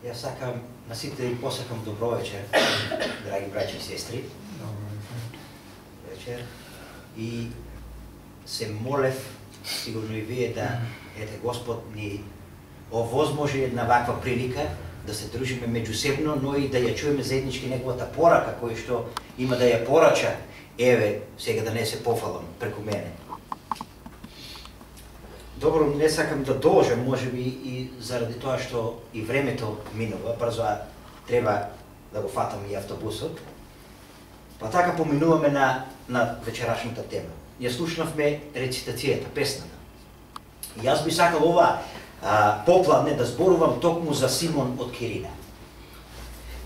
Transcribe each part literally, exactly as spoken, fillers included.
Јас сакам на сите и посакам добро вечер, драги браќи и сестри. Вечер. И се молев, сигурно и вие, да ете Господ ни овозможи една ваква прилика да се дружиме меѓусебно, но и да ја чуеме заеднички неговата порака, која што има да ја порача. Еве, сега да не се пофалам преку мене. Добро, не сакам да должам, може би и заради тоа што и времето минува, брзо треба да го фатам и автобусот. Па така поминуваме на, на вечерашната тема. Ја слушнавме рецитацијата, песната. И јас би сакал ова а, попладне да зборувам токму за Симон од Кирина.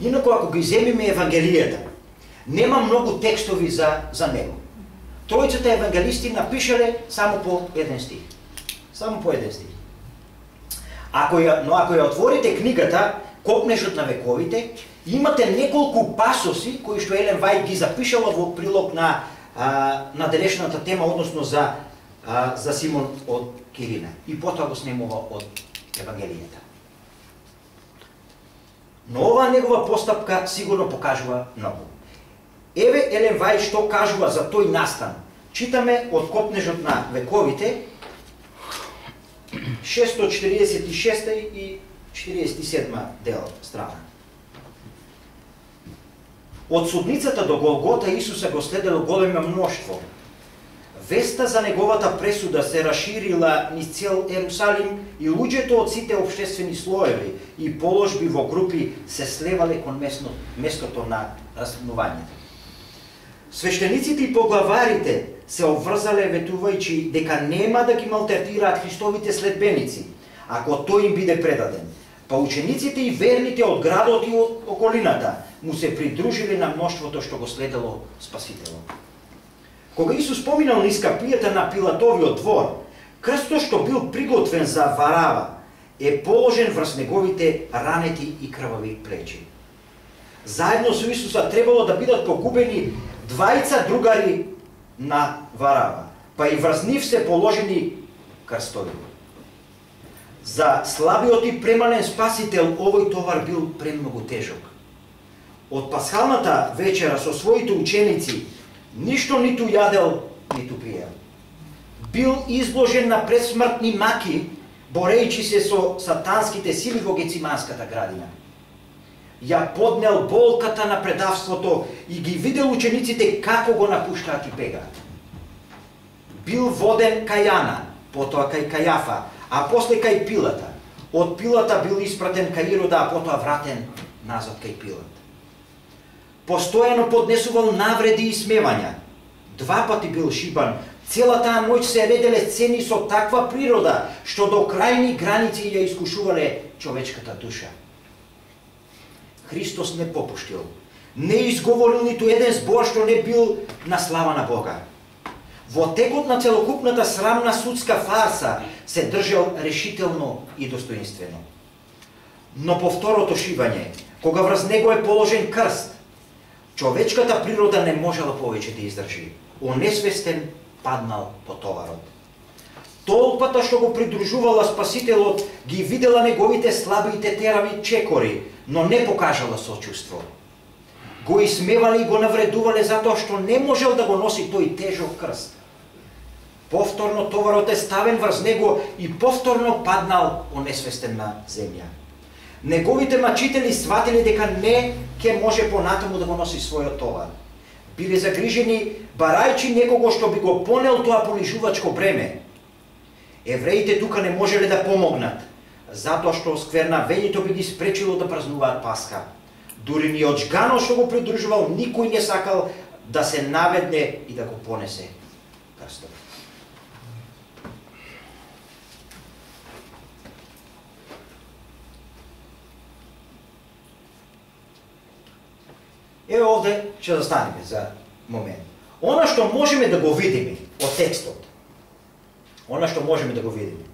Инако, ако ги земиме Евангелијата, нема многу текстови за, за него. Тројцата евангелисти напишале само по еден стих. Само по еден стих. Ако ја, но ако ја отворите книгата Копнежот на вековите, имате неколку пасоси кои што Елен Вајт ги запишала во прилог на а, на денешната тема, односно за а, за Симон од Кирина. И потоа го снемува од Евангелијата. Но оваа негова постапка сигурно покажува многу. Еве Елен Вајт што кажува за тој настан. Читаме од Копнежот на вековите, шестстотини четиридесет и шеста и четиридесет и седма дел страна. Од судницата до Голгота Исуса го следело големо мноштво. Веста за неговата пресуда се расширила низ цел Ерусалим и луѓето од сите општествени слоеви и положби во групи се слевале кон местно, местото на распнувањето. Свештениците и поглаварите се обврзале ветувајќи дека нема да ги малтретираат Христовите следбеници, ако тој им биде предаден. Па учениците и верните од градот и од околината му се придружиле на мноштвото што го следело Спасителот. Кога Исус поминал низ капијата на Пилатовиот двор, крстот што бил приготвен за Варава е положен врз неговите ранети и крвави плечи. Заедно со Исуса требало да бидат погубени двајца другари на Варава, па и врз нив се положени крстови. За слабиот и премален Спасител овој товар бил премногу тежок. Од пасхалната вечера со своите ученици ништо ниту јадел, ниту пиел. Бил изложен на предсмртни маки, борејќи се со сатанските сили во Гециманската градина. Ја поднел болката на предавството и ги видел учениците како го напуштаат и бегаат. Бил воден кај Јана, потоа кај Кајафа, а после кај Пилата. Од Пилата бил испратен кај Ирода, а потоа вратен назад кај Пилат. Постојано поднесувал навреди и смевања. Два пати бил шибан. Цела таа ноќ се ределе сцени со таква природа, што до крајни граници ја искушувале човечката душа. Христос не попуштил. Не изговорил ниту еден збор што не бил на слава на Бога. Во текот на целокупната срамна судска фарса се држал решително и достоинствено. Но по второто шибање, кога врз него е положен крст, човечката природа не можела повеќе да издржи. Онесвестен паднал по товарот. Толпата што го придружувала Спасителот ги видела неговите слаби и тетерави чекори, но не покажала сочувство. Го исмевале и го навредувале затоа што не можел да го носи тој тежок крст. Повторно товарот е ставен врз него и повторно паднал онесвестен на земја. Неговите мачители сватиле дека не ќе може понатаму да го носи својот товар. Биле загрижени барајќи некого што би го понел тоа понижувачко бреме. Евреите тука не можеле да помогнат, затоа што сквернавењето би ги спречило да празнуваат Пасха. Дури ни од жганот што го придружувал, никој не сакал да се наведне и да го понесе крстот. Еве овде ќе застанеме за момент. Она што можеме да го видиме од текстот, она што можеме да го видиме,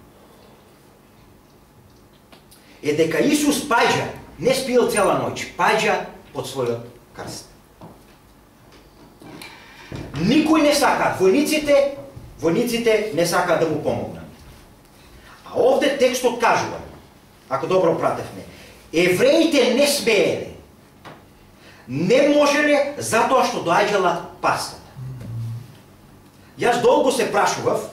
е дека Исус паѓа, не спиел цела ноќ, паѓа од својот крст. Никој не сака, војниците, војниците не сакаат да му помогнат. А овде текстот кажува, ако добро пратевме, евреите не смееле, не можеле затоа што доаѓала Пасхата. Јас долго се прашував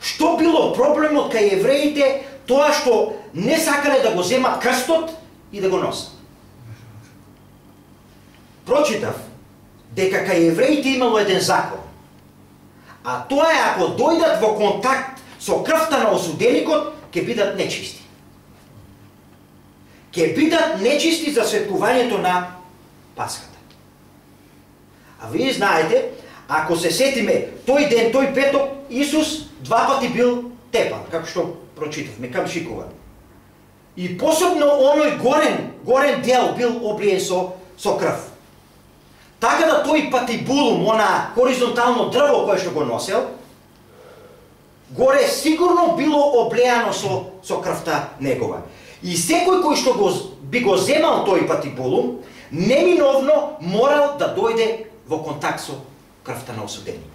што било проблемот кај евреите, тоа што не сакале да го земат крстот и да го носат. Прочитав дека кај евреите имало еден закон, а тоа е ако дојдат во контакт со крвта на осуденикот, ќе бидат нечисти. Ќе бидат нечисти за светкувањето на Пасхата. А вие знаете, ако се сетиме, тој ден, тој петок, Исус два пати бил тепан, како што прочитавме, камшикуван. И посебно оној горен, горен дел бил облиен со, со крв. Така да тој патибулум, она хоризонтално дрво кое што го носел, горе сигурно било облеано со, со крвта негова. И секој кој што го, би го земал тој патибулум, неминовно морал да дојде во контакт со крвта на осуденикот.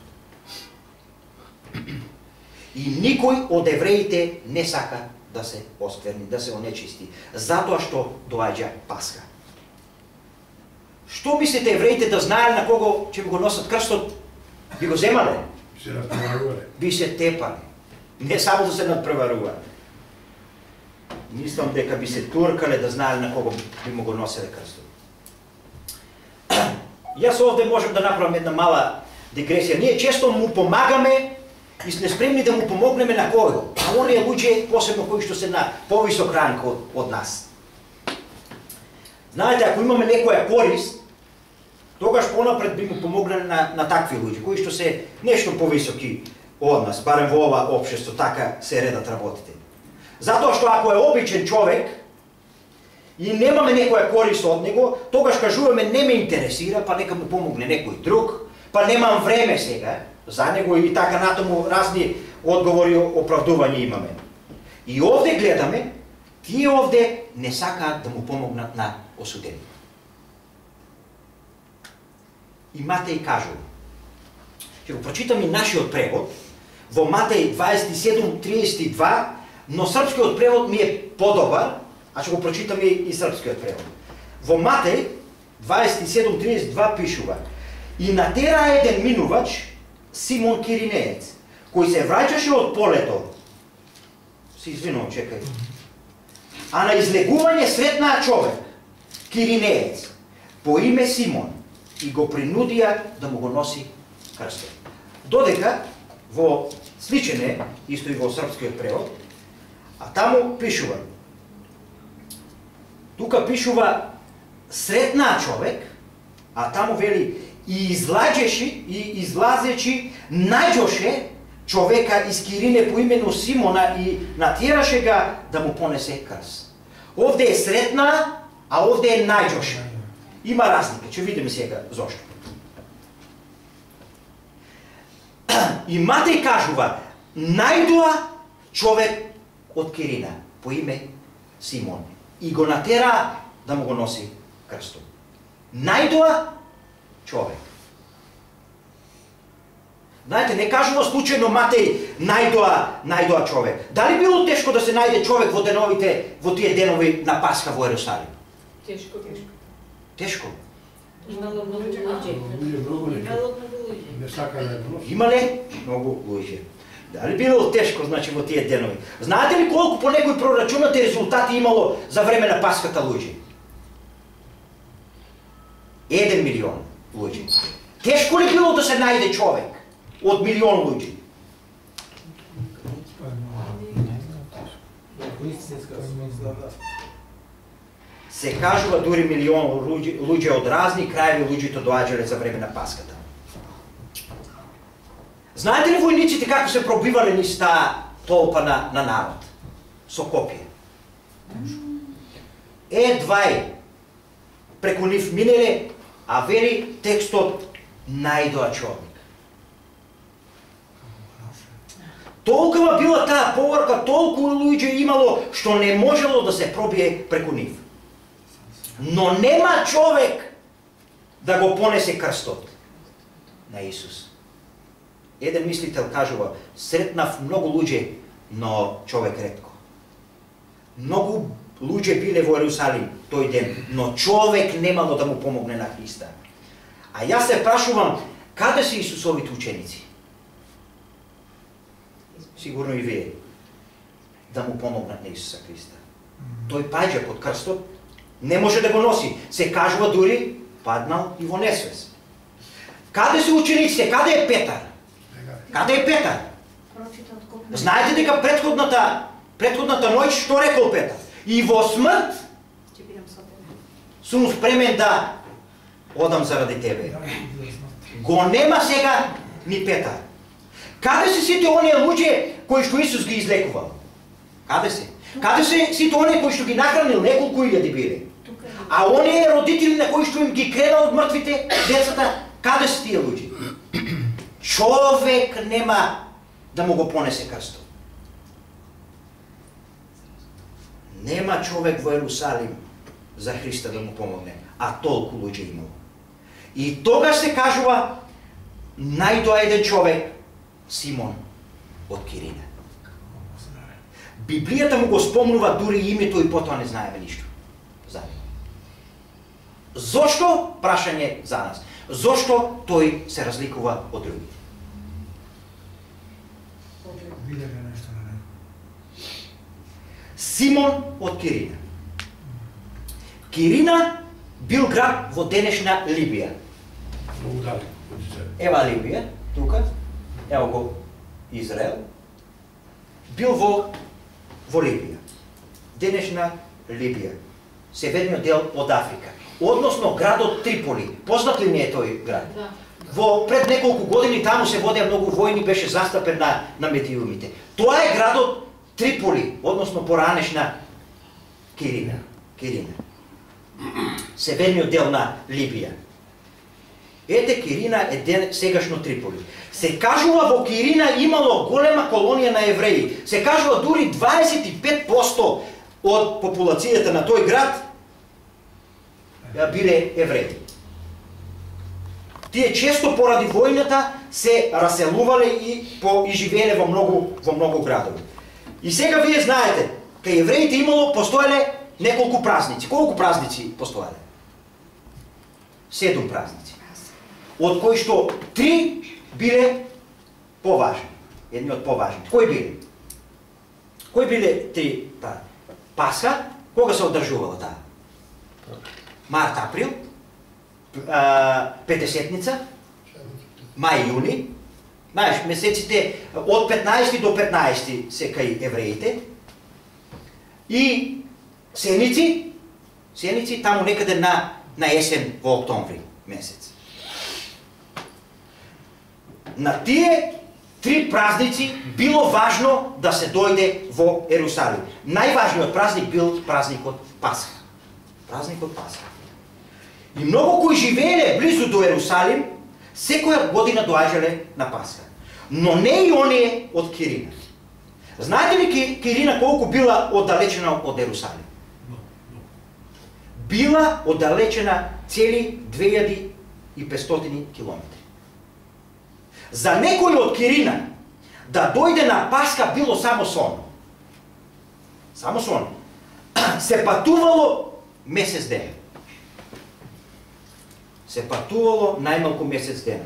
И никој од евреите не сака да се оскверни, да се онечисти, затоа што доаѓа Пасха. Што мислите евреите да знаеле на кого ќе го носат крстот? Би го земале? Се надпреварувале. Би се тепале. Не само да се надпреварува. Мислам дека би се туркале да знаеле на кого би му го носеле крстот. Јас овде можам да направам една мала дигресија. Ние често му помагаме и сме спремни да му помогнеме на кој? А оние луѓе, посебно кои што се на повисок ранг од, од нас. Знаете, ако имаме некоја корист, тогаш понапред би му помогнали на, на такви луѓе, кои што се нешто повисоки од нас, барем во ова општество, така се редат работите. Затоа што ако е обичен човек и немаме некоја корист од него, тогаш кажуваме не ме интересира, па нека му помогне некој друг, па немам време сега за него и така натаму разни одговори, оправдувања имаме. И овде гледаме, тие овде не сакаат да му помогнат на осуденик. И Матеј кажува, ќе го прочитам и нашиот превод, во Матеј дваесет и седум триесет и два, но српскиот превод ми е подобар, а ќе го прочитам и, и српскиот превод. Во Матеј дваесет и седум триесет и два пишува: и натера еден минувач, Симон Киринеец, кој се враќаше од полето, се извинувам, чекај, а на излегување сретнаа човек, Киринеец, по име Симон, и го принудија да му го носи крстот. Додека во сличен е, исто и во српскиот превод, а таму пишува, тука пишува сретнаа човек, а таму вели и излаđеши и излазечи најđоше човека из Кирине по имено Симона и натjerаше га да му понесе крст. Овде е сретна, а овде е најđоше. Има разлика, ќе видиме сега зошто. И Матеј кажува, најдоа човек од Кирина по име Симон и го натера да му го носи крстот. Најдоа човек. Знаете, не кажува случајно Матеј најдоа, најдоа човек. Дали било тешко да се најде човек во деновите, во тие денови на Пасха во Ерусалим? Тешко, тешко. Тешко. Имало многу луѓе. Имало многу луѓе. Не сака да го носи. Имале многу луѓе. Дали било тешко, значи, во тие денови? Знаете ли колку по некои прорачунати резултати имало за време на Пасхата луѓе? Еден милион луѓе. Тешко ли било да се најде човек од милион луѓе? Се кажува дури милион луѓе, луѓе од разни краеви луѓето доаѓале за време на Пасхата. Знаете ли војниците како се пробивале низ таа толпа на, на народ? Со копија. Едвај преку нив минеле, а вели текстот најдоа човек. Толкова била таа поврка, толку луѓе имало што не можело да се пробие преку нив. Но нема човек да го понесе крстот на Исус. Еден мислител кажува, сретнав многу луѓе, но човек ретко. Многу луѓе биле во Ерусалим тој ден, но човек немало да му помогне на Христа. А јас се прашувам, каде се Исусовите ученици? Сигурно и вие. Да му помогнат на Исуса Христа. Тој паѓа под крстот, не може да го носи. Се кажува дури паднал и во несвес. Каде се учениците? Каде е Петар? Каде е Петар? Знаете дека претходната претходната ноќ што рекол Петар? И во смрт сум спремен да одам заради тебе. Го нема сега ни Петар. Каде се сите оние луѓе кои што Исус ги излекувал? Каде се? Каде се сите оние кои што ги нахранил, неколку илјади биле? А оние родители на кои што им ги крена од мртвите децата, каде се тие луѓе? Човек нема да му го понесе крстот. Нема човек во Ерусалим за Христа да му помогне, а толку луѓе имало. И тогаш се кажува најдоа еден човек, Симон од Кирина. Библијата му го спомнува дури името и потоа не знаеме ништо за него. Зошто? Прашање за нас. Зошто тој се разликува од другите? Симон од Кирина. Кирина бил град во денешна Либија. Ева Либија, тука, ево го Израел. Бил во во Либија. Денешна Либија. Северниот дел од Африка. Односно градот Триполи. Познат ли не е тој град? Да. Во пред неколку години таму се водеа многу војни, беше застапен на на медиумите. Тоа е градот Триполи, односно поранешна Кирина. Кирина. Северниот дел на Либија. Ете Кирина е ден, сегашно Триполи. Се кажува во Кирина имало голема колонија на евреи. Се кажува дури дваесет и пет проценти од популацијата на тој град биле евреи. Тие често поради војната се раселувале и по и живееле во многу во многу градови. И сега вие знаете, кај евреите имало постоеле неколку празници. Колку празници постоеле? Седум празници. Од кои што три биле поважни. Едни од поважни. Кои биле? Кои биле три? Пасха, кога се одржувала таа? Март, април, Петесетница, мај, јуни. Знаеш, месеците од петнаесети до петнаесети се кај евреите. И сеници, сеници таму некаде на на есен во октомври месец. На тие три празници било важно да се дојде во Ерусалим. Најважниот празник бил празникот Пасха. Празникот Пасха. И многу кои живееле близу до Ерусалим, секоја година доаѓале на Пасха. Но не и оние од Кирина. Знаете ли Кирина колку била оддалечена од Ерусалим? Била оддалечена цели две илјади и петстотини километри. За некој од Кирина да дојде на Пасха било само сон. Само сон. Се патувало месец ден. Се патувало најмалку месец дена.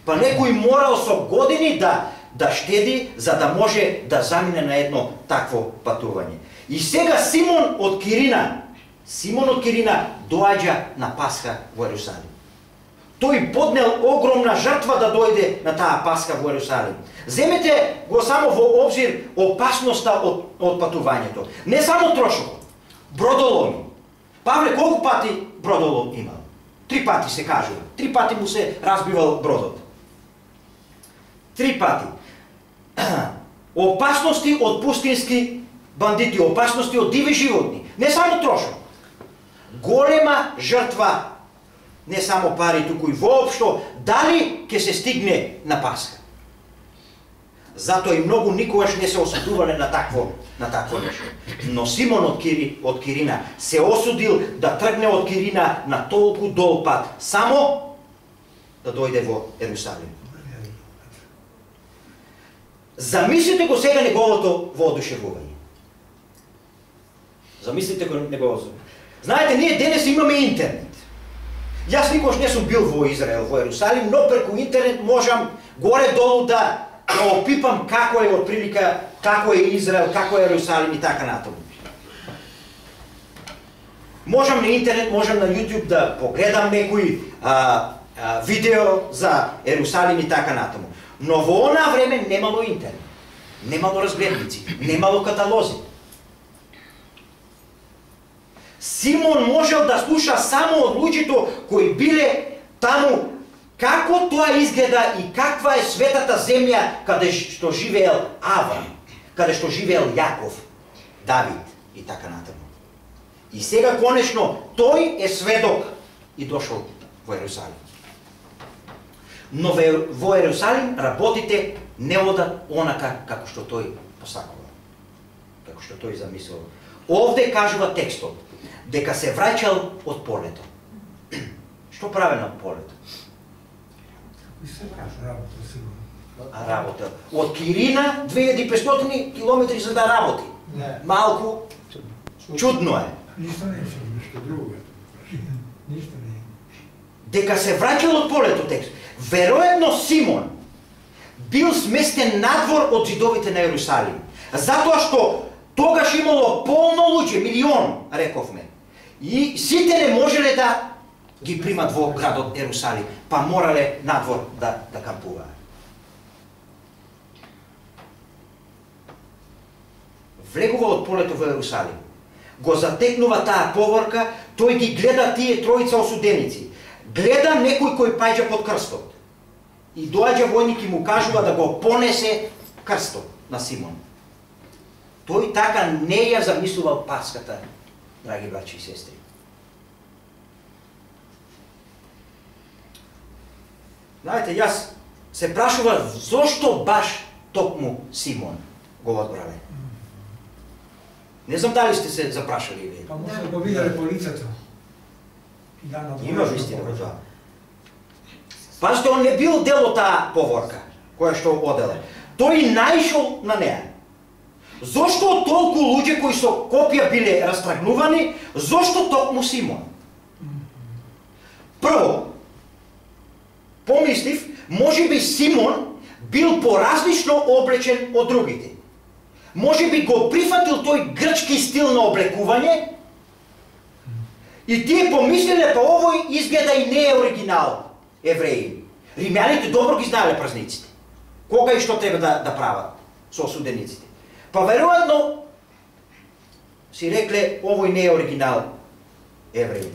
Па некој морал со години да да штеди за да може да замине на едно такво патување. И сега Симон од Кирина, Симон од Кирина доаѓа на Пасха во Ерусалим. Тој поднел огромна жртва да дојде на таа Пасха во Ерусалим. Земете го само во обзир опасноста од, од патувањето. Не само трошокот, бродоломи. Павле колку пати бродолом имал? Три пати се кажува. Три пати му се разбивал бродот. Три пати. Опасности од пустински бандити, опасности од диви животни. Не само трошок. Голема жртва, не само пари, туку и воопшто, дали ќе се стигне на Пасха. Затоа и многу никогаш не се осудувале на такво на такво нешто. Но Симон од, Кири, од Кирина се осудил да тргне од Кирина на толку дол пат, само да дојде во Ерусалим. Замислите го сега неговото воодушевување. Замислите го него. Знаете, ние денес имаме интернет. Јас никош не сум бил во Израел, во Ерусалим, но преку интернет можам горе-долу да, да опипам како е отприлика, како е Израел, како е Ерусалим и така натаму. Можам на интернет, можам на YouTube да погледам некои а, а, видео за Ерусалим и така натаму. Но во онаа време немало интернет, немало разгледници, немало каталози. Симон можел да слуша само од луѓето кои биле таму како тоа изгледа и каква е светата земја каде што живеел Аврам, каде што живеел Јаков, Давид и така натаму. И сега конечно тој е сведок и дошол во Ерусалим. Но во Ерусалим работите не одат онака како што тој посакува, како што тој замислил. Овде кажува текстот дека се враќал од полето. Што прави на полето? А работа. Од Кирина две илјади и петстотини километри за да работи. Малку чудно е. Ништо не е, ништо друго е. Ништо не е. Дека се враќал од полето текст. Веројатно Симон бил сместен надвор од зидовите на Ерусалим. Затоа што тогаш имало полно луѓе, милион, рековме. И сите не можеле да ги примат во градот Ерусалим, па морале надвор да, да кампуваат. Влегува од полето во Ерусалим. Го затекнува таа поворка, тој ги гледа тие тројца осуденици. Гледа некој кој паѓа под крстот. И доаѓа војник и му кажува да го понесе крстот на Симон. Тој така не ја замислувал Паската, драги браќи и сестри. Знаете, јас се прашував зошто баш токму Симон го одбрале. Не знам дали сте се запрашали вие. Па може го виделе по лицето. Има вистина во тоа. Пазите, он не бил дел од таа поворка, која што оделе. Тој наишол на неа. Зошто толку луѓе кои со копија биле растрагнувани, зошто токму Симон? Прво, помислив, може би Симон бил поразлично облечен од другите. Може би го прифатил тој грчки стил на облекување и тие помислиле, па овој изгледа и не е оригинал евреи. Римјаните добро ги знаеле празниците. Кога и што треба да, да прават со осудениците. Па веројатно си рекле, овој не е оригинал евреи.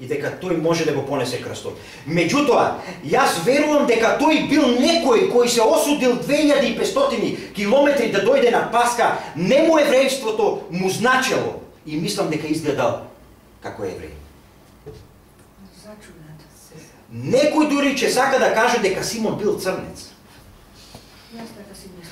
И дека тој може да го понесе крстот. Меѓутоа, јас верувам дека тој бил некој кој се осудил две илјади и петстотини километри да дојде на Паска, не му еврејството му значело и мислам дека изгледал како евреј. Некој дури че сака да каже дека Симон бил црнец.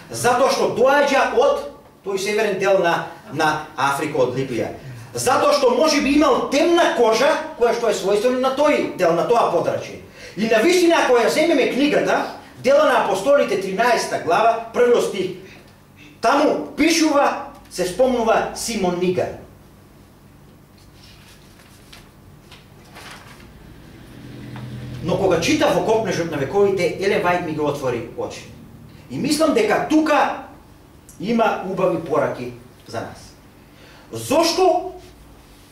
Затоа што доаѓа од тој северен дел на, на Африка, од Либија. Затоа што може би имал темна кожа, која што е својствена на тој дел, на тоа подрачје. И на вистина, ако ја земеме книгата, Дела на апостолите, тринаесета глава, првиот стих, таму пишува, се спомнува Симон Нигар. Но кога читав во Копнежот на вековите, Елен Вајд ми го отвори очи. И мислам дека тука има убави пораки за нас. Зошто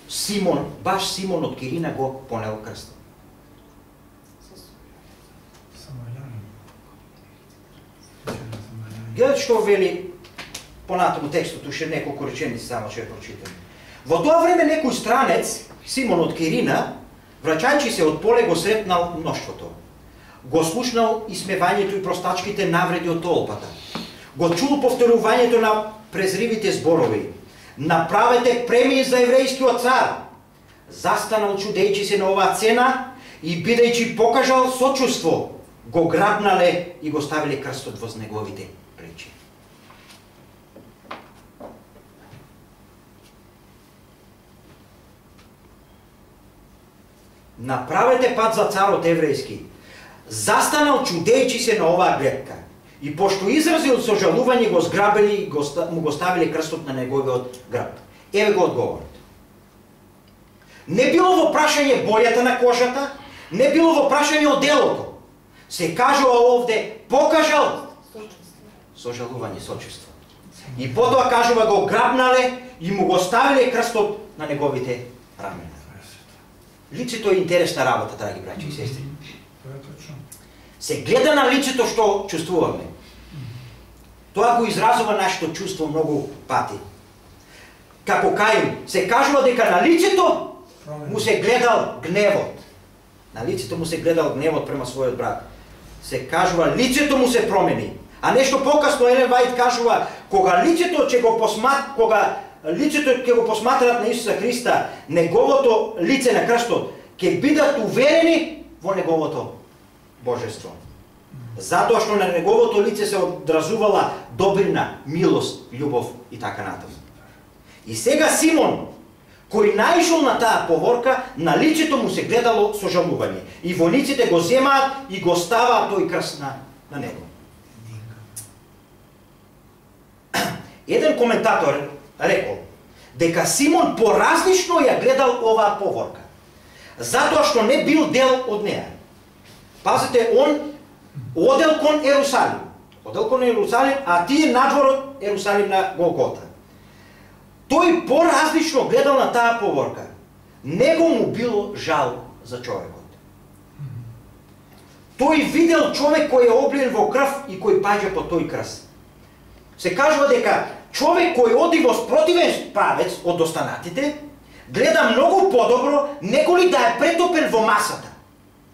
Симон, баш Симон од Кирина го понел крстот? Гледате што вели понатаму текстот, уште неколку реченици само ќе прочитам. Во тоа време некој странец, Симон од Кирина, враќајќи се од поле, го сретнал мноштвото. Го слушнал исмевањето и простачките навреди од толпата. Го чул повторувањето на презривите зборови. Направете премиј за еврејскиот цар. Застанал чудејќи се на оваа цена и бидејќи покажал сочувство, го грабнале и го ставиле крстот воз неговите плечи. Направете пат за царот еврејски. Застанал чудејќи се на оваа гледка И пошто изразил сожалување, го зграбили и го, му го ставили крстот на неговиот граб. Еве го одговорот. Не било во прашање бојата на кожата, не било во прашање од делото. Се кажува овде, покажал сожалување, сочувство. И потоа кажува го грабнале и му го ставиле крстот на неговите рамена. Лицето е интересна работа, драги браќи и сестри. Се гледа на лицето што чувствуваме. Тоа го изразува нашето чувство многу пати. Како Каин, се кажува дека на лицето му се гледал гневот. На лицето му се гледал гневот према својот брат. Се кажува лицето му се промени. А нешто покасно Елен Вајд кажува кога лицето ќе го посмат, кога лицето ќе го посматрат на Исуса Христа, неговото лице на крстот, ќе бидат уверени во неговото божество. Затоа што на неговото лице се одразувала добрина, милост, љубов и така натаму. И сега Симон, кој наишол на таа поворка, на лицето му се гледало сожалување. И војниците го земаат и го ставаат тој крст на, на него. Еден коментатор рекол дека Симон поразлично ја гледал оваа поворка, затоа што не бил дел од неа. Пазите, он одел кон Ерусалим. Одел кон Ерусалим, а тие надвор од Ерусалим на Голгота. Тој поразлично гледал на таа поворка. Него му било жал за човекот. Тој видел човек кој е облиен во крв и кој паѓа по тој крст. Се кажува дека човек кој оди во спротивен правец од останатите, гледа многу подобро неколи да е претопен во масата.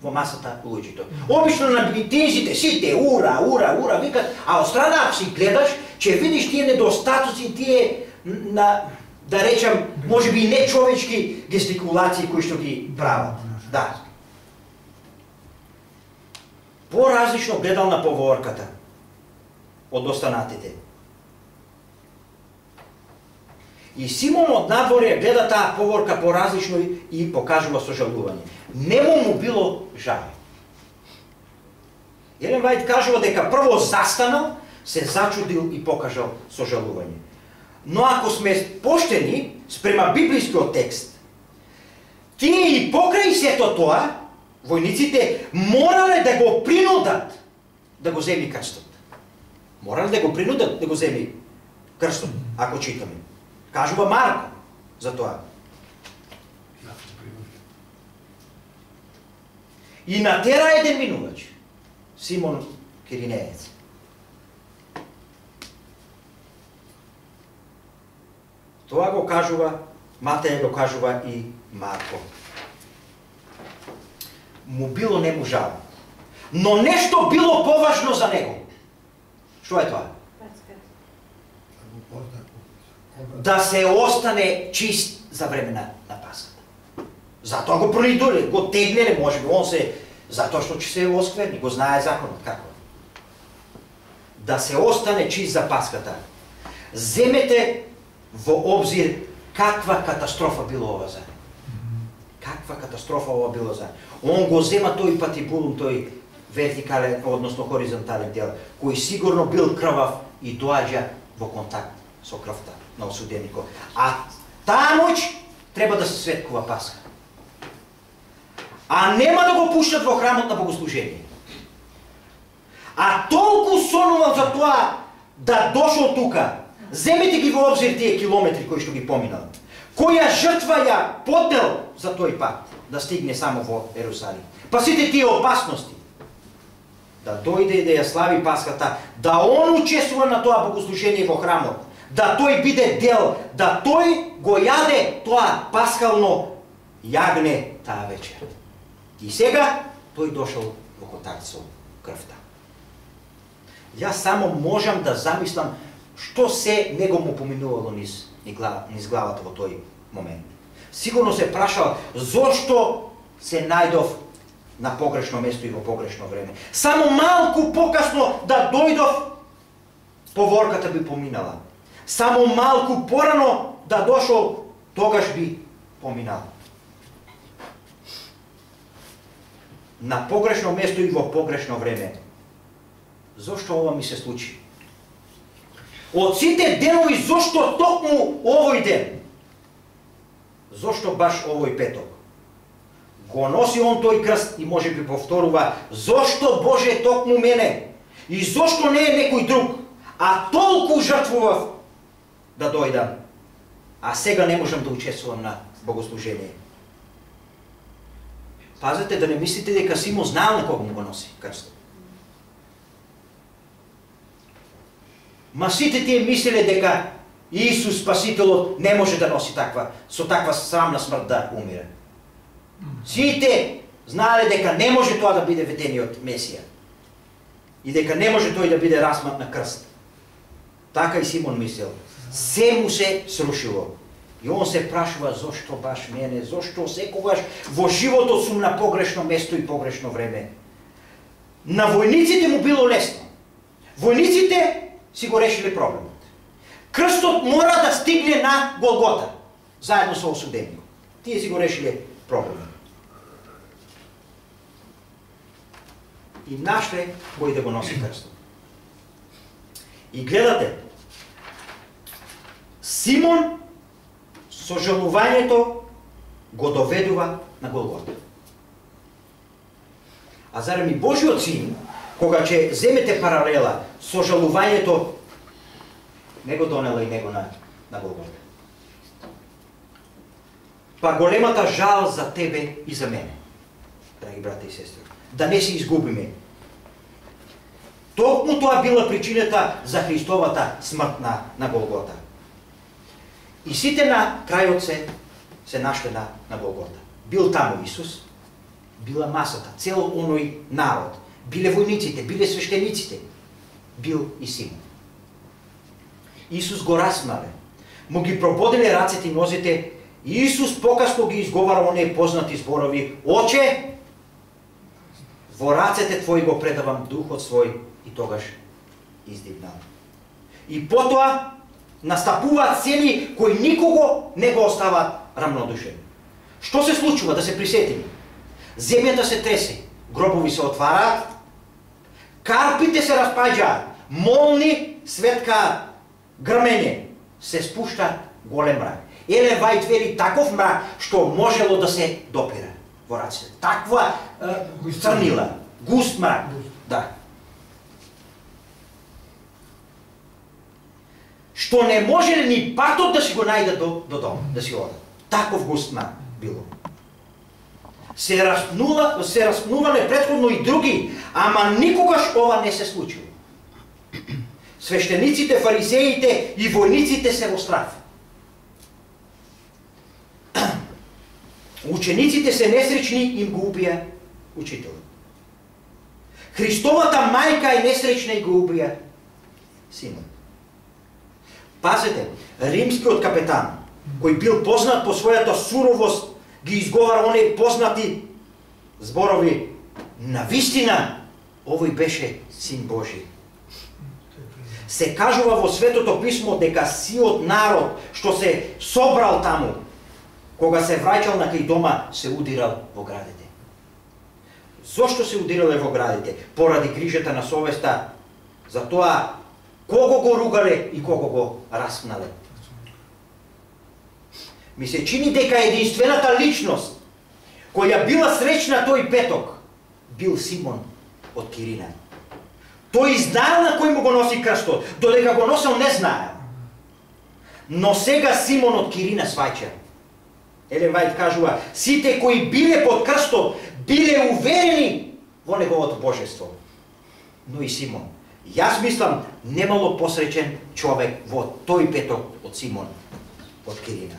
Во масата луѓето. Обично на митинзите сите ура, ура, ура викат, а од страна ако си гледаш, ќе видиш тие недостатоци, тие на, да речам, можеби и нечовечки гестикулации кои што ги прават. Да. Поразлично гледал на поворката од останатите. И Симон од надворе гледа таа поворка поразлично и покажува сожалување. Нему му било жал. Елен Вајд кажува дека прво застанал, се зачудил и покажал сожалување. Но ако сме поштени спрема библискиот текст, тие и покрај сето тоа, војниците морале да го принудат да го земи крстот. Морале да го принудат да го земи крстот, ако читаме. Кажува Марко за тоа. И натера еден минувач, Симон Киринеец. Тоа го кажува, Матеј го кажува и Марко. Му било нему жал. Но нешто било поважно за него. Што е тоа? Да се остане чист за време на, на Пасхата. Затоа го принудиле, го тегнеле, може би он се, затоа што ќе се оскверни, го знае законот како. Да се остане чист за Пасхата. Земете во обзир каква катастрофа било ова за него. Каква катастрофа ова било за него. Он го зема тој патибулум, тој вертикален, односно хоризонтален дел, кој сигурно бил крвав и доаѓа во контакт со крвта на осуденикот. А таа ноќ треба да се светкува Пасха. А нема да го пуштат во храмот на богослужение. А толку сонувал за тоа да дошол тука. Земете ги во обзир тие километри кои што ги поминал. Која жртва ја поднел за тој пат да стигне само во Ерусалим. Па сите тие опасности. Да дојде и да ја слави Пасхата, да он учествува на тоа богослужение во храмот, да тој биде дел, да тој го јаде тоа пасхално јагне таа вечер. И сега тој дошол во контакт со крвта. Јас само можам да замислам што се него му поминувало низ, низ главата во тој момент. Сигурно се прашал зошто се најдов на погрешно место и во погрешно време. Само малку покасно да дојдов, поворката би поминала. Само малку порано да дошол, тогаш би поминал. На погрешно место и во погрешно време. зошто ова ми се случи? Од сите денови, зошто токму овој ден? Зошто баш овој петок? Го носи он тој крст и може би повторува, зошто Боже токму мене? И зошто не е некој друг? А толку жртвував да дојдам, а сега не можам да учествувам на богослужение. Пазете да не мислите дека Симон знаел на кого му го носи крстот. Ма сите тие мислеле дека Исус Спасителот не може да носи таква, со таква срамна смрт да умире. Сите знаеле дека не може тоа да биде ветениот Месија. И дека не може тој да биде распнат на крст. Така и Симон мислел. Се му се срушило. И он се прашува зошто баш мене, зошто секогаш во животот сум на погрешно место и погрешно време. На војниците му било лесно. Војниците си го решиле проблемот. Крстот мора да стигне на Голгота, заедно со осудениот. Тие си го решиле проблемот. И нашле кој да го носи крстот. И гледате, Симон со жалувањето го доведува на Голгота. А зарем и Божиот син, кога ќе земете паралела со жалувањето, не го донела и него на, на Голгота. Па големата жал за тебе и за мене, драги брати и сестри, да не се изгубиме. Токму тоа била причината за Христовата смрт на, на Голгота. И сите на крајот се, се нашле на, на Голгота. Бил таму Исус, била масата, цел оној народ, биле војниците, биле свештениците, бил и Симон. Исус го распнале, му ги прободиле рацете и нозите, и Исус покасно ги изговара оние познати зборови: Оче, во рацете твои го предавам духот свој, и тогаш издигнал. И потоа настапуваат цели кои никого не го оставаат рамнодушен. Што се случува, да се присетиме? Земјата се тресе, гробови се отвараат, карпите се распаѓаат, молни светка грмење, се спушта голем мрак. Елен Вајт вели таков мрак што можело да се допира во раците. Таква е, црнила, густ мрак. Да. Што не може ни патот да си го најде до, до дом, да си одат. Таков густ мрак било. Се распнува, се распнувале претходно и други, ама никогаш ова не се случило. Свештениците, фарисеите и војниците се во страх. Учениците се несречни, им го убија учителот. Христовата мајка е несречна и го убија синот. Пазете, римскиот капетан, кој бил познат по својата суровост, ги изговара оние познати зборови: на вистина, овој беше син Божи. Се кажува во Светото писмо дека сиот народ што се собрал таму, кога се враќал на кај дома, се удирал во градите. Зошто се удирале во градите? Поради грижата на совеста, за тоа кого го ругале и кого го распнале. Ми се чини дека единствената личност која била среќна тој петок бил Симон од Кирина. Тој знаел на кој му го носи крстот, додека го носел не знаел. Но сега Симон од Кирина сваќа. Елен Вајт кажува, сите кои биле под крстот биле уверени во неговото божество. Но и Симон. Јас мислам, немало посреќен човек во тој петок од Симон од Кирина.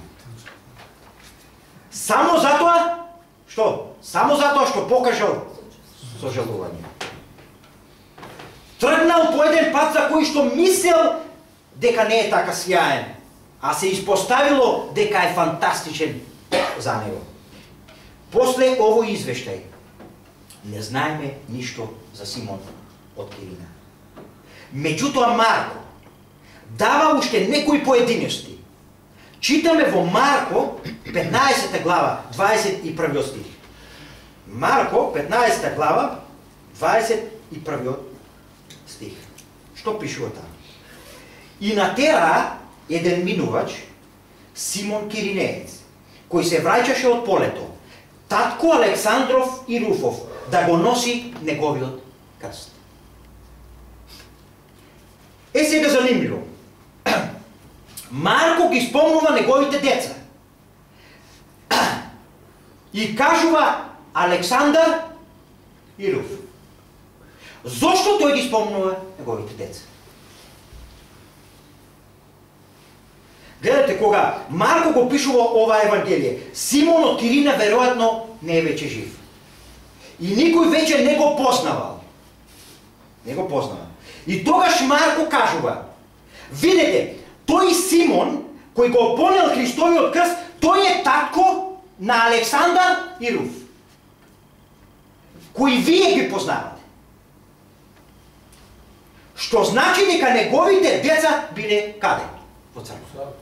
Само затоа, што? Само затоа што покажал сожалување. Тргнал по еден пат за кој што мислел дека не е така сјаен, а се испоставило дека е фантастичен за него. После овој извештај не знаеме ништо за Симон од Кирина. Меѓутоа Марко дава уште некои поединечности. Читаме во Марко петнаесета глава, дваесет и првиот стих. Марко петнаесета глава, дваесет и првиот стих. Што пишува таа? И натера еден минувач, Симон Киринеец, кој се враќаше од полето, татко Александров и Руфов, да го носи неговиот крст. Е, сега занимливо. Марко ги спомнува неговите деца. И кажува Александар и Руф. Зошто тој ги спомнува неговите деца? Гледате, кога Марко го пишува ова Евангелие, Симон од Кирина веројатно не е веќе жив. И никој веќе не го познавал. Не го познавал. И тогаш Марко кажува, видете, тој Симон, кој го понел Христовиот крст, тој е татко на Александар и Руф, кои вие ги познавате. Што значи дека неговите деца биле каде? Во црква.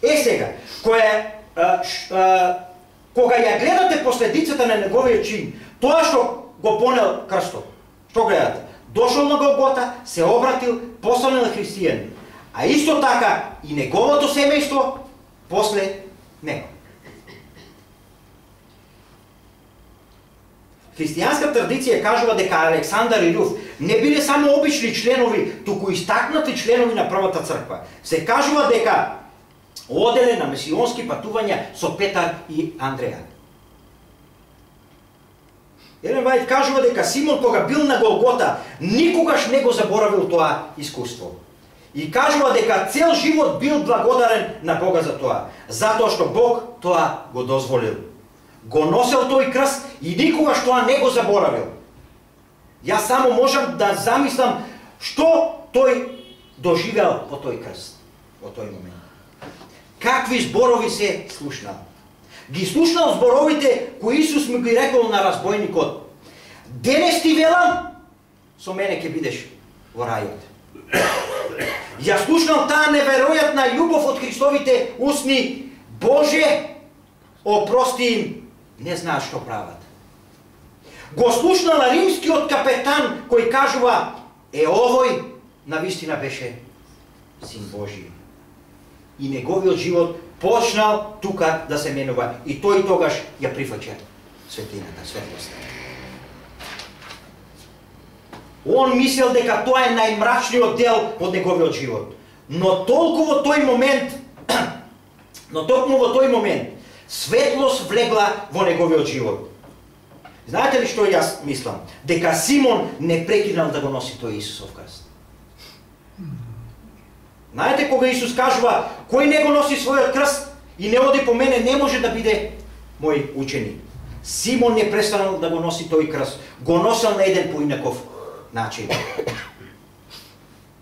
Е сега, која, а, ш, а, кога ја гледате последицата на неговиот чин, тоа што го понел крстот, што гледате? Дошол на Голгота, се обратил, постанал христијанин. А исто така и неговото семејство после него. Христијанска традиција кажува дека Александар и Руф не биле само обични членови, туку истакнати членови на првата црква. Се кажува дека оделе на месионски патувања со Петар и Андреја. Елен Вајд кажува дека Симон, кога бил на Голгота, никогаш не го заборавил тоа искуство. И кажува дека цел живот бил благодарен на Бога за тоа, затоа што Бог тоа го дозволил. Го носел тој крст и никогаш тоа не го заборавил. Јас само можам да замислам што тој доживел по тој крст, во тој момент. Какви зборови се слушнал? Ги слушнал зборовите кои Исус му ги рекол на разбойникот. Денес ти велам, со мене ќе бидеш во рајот. Ја слушнал таа неверојатна љубов од Христовите устни. Боже, опрости им, не знаат што прават. Го слушнал римскиот капетан кој кажува, е овој навистина беше Син Божи. И неговиот живот почнал тука да се менува и тој тогаш ја прифаќа светлината, светлоста. Он мислел дека тоа е најмрачниот дел од неговиот живот. Но толку во тој момент, но токму во тој момент, светлост влегла во неговиот живот. Знаете ли што јас мислам? Дека Симон не прекинал да го носи тој Исусов крст. Знаете, кога Исус кажува, кој не го носи својот крст и не оди по мене, не може да биде мој ученик. Симон не престанал да го носи тој крст. Го носел на еден поинаков начин.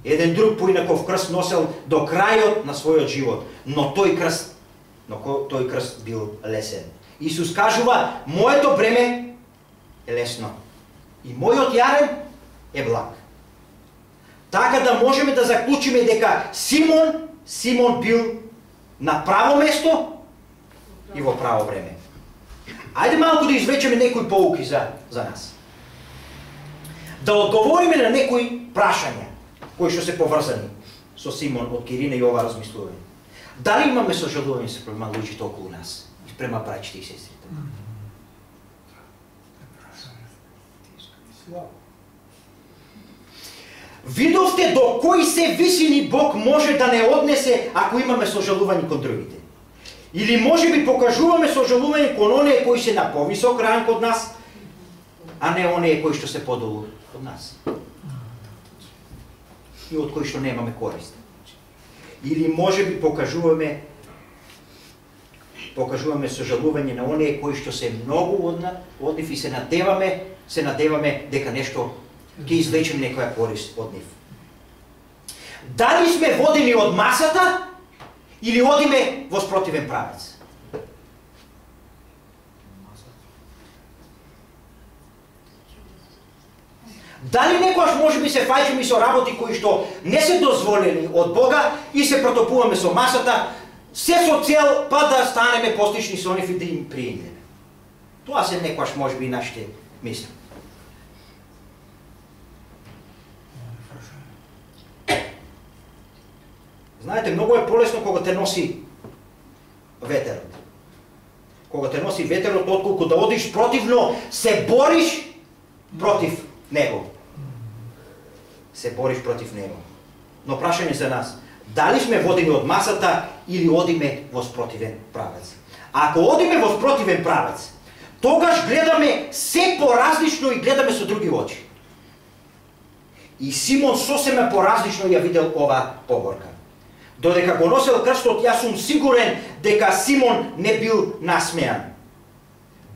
Еден друг поинаков крст носел до крајот на својот живот. Но тој крст, но тој крст бил лесен. Исус кажува, моето бреме е лесно и мојот јарем е благ. Така да можеме да заклучиме дека Симон, Симон бил на право место и во право време. Ајде малку да извлечеме некои поуки за, за нас. Да одговориме на некои прашања кои што се поврзани со Симон од Кирина и ова размислување. Дали имаме сожалување се према луѓето околу нас и према браќите и сестрите? Видовте до кои се висини Бог може да не однесе ако имаме сожалување кон другите. Или може би покажуваме сожалување кон оние кои се на повисок ранг од нас, а не оние кои што се подолу од нас. И од кои што немаме корист. Или може би покажуваме покажуваме сожалување на оние кои што се многу од од нив и се надеваме, се надеваме дека нешто ќе извлечеме некоја корист од нив. Дали сме водени од масата или одиме во спротивен правец? Дали некојаш можеби се фаќаме со работи кои што не се дозволени од Бога и се протопуваме со масата, се со цел па да станеме постични со нив и да им приидеме? Тоа се некојаш можеби и нашите мисли. Знаете, многу е полесно кога те носи ветерот. Кога те носи ветерот, отколку да одиш противно, се бориш против него. Се бориш против него. Но прашање за нас, дали сме водени од масата или одиме во спротивен правец? Ако одиме во спротивен правец, тогаш гледаме се поразлично и гледаме со други очи. И Симон сосема поразлично ја видел ова погорка. Додека го носел крстот, јас сум сигурен дека Симон не бил насмеан.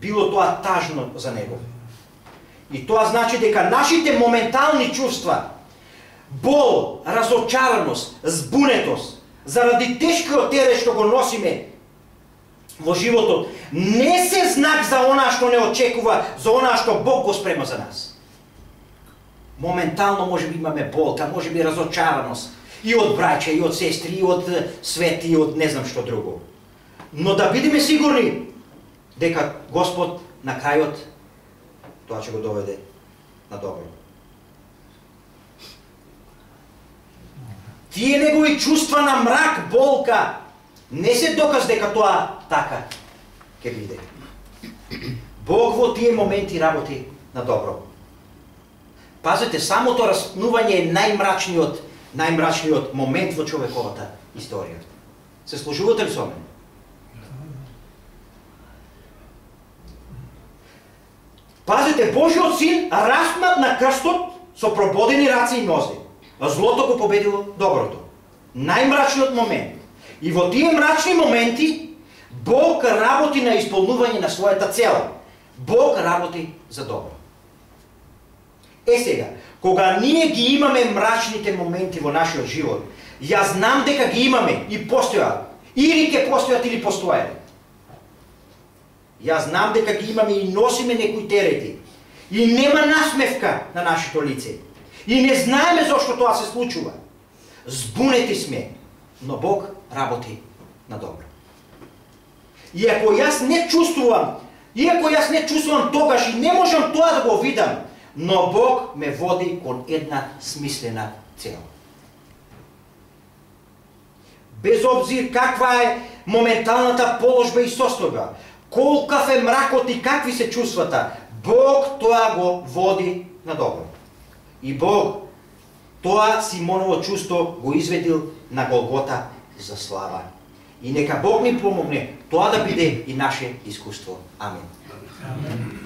Било тоа тажно за него. И тоа значи дека нашите моментални чувства, бол, разочараност, збунетост, заради тешкиот терет што го носиме во животот, не се знак за онаа што не очекува, за онаа што Бог го спрема за нас. Моментално може би имаме болка, може би разочараност, и од браќа, и од сестри, и од свет, и од не знам што друго. Но да бидеме сигурни дека Господ на крајот тоа ќе го доведе на добро. Тие негови чувства на мрак, болка, не се доказ дека тоа така ќе биде. Бог во тие моменти работи на добро. Пазете, самото распнување е најмрачниот, најмрачниот момент во човековата историја. Се служувате ли со мене? Пазете, Божиот син распнат на крстот со прободени раце и нозе. Злото го победило доброто. Најмрачниот момент. И во тие мрачни моменти Бог работи на исполнување на својата цел. Бог работи за добро. Е сега, кога ние ги имаме мрачните моменти во нашиот живот, јас знам дека ги имаме и постојат, или ќе постојат или постојат. Јас знам дека ги имаме и носиме некои терети. И нема насмевка на нашето лице. И не знаеме зошто тоа се случува. Збунети сме, но Бог работи на добро. И ако јас не чувствувам, иако јас не чувствувам тогаш и не можам тоа да го видам, но Бог ме води кон една смислена цел. Без обзир каква е моменталната положба и состојба, колкав е мракот и какви се чувствата, Бог тоа го води на добро. И Бог тоа Симоново чувство го изведил на Голгота за слава. И нека Бог ни помогне тоа да биде и наше искуство. Амин. Амин.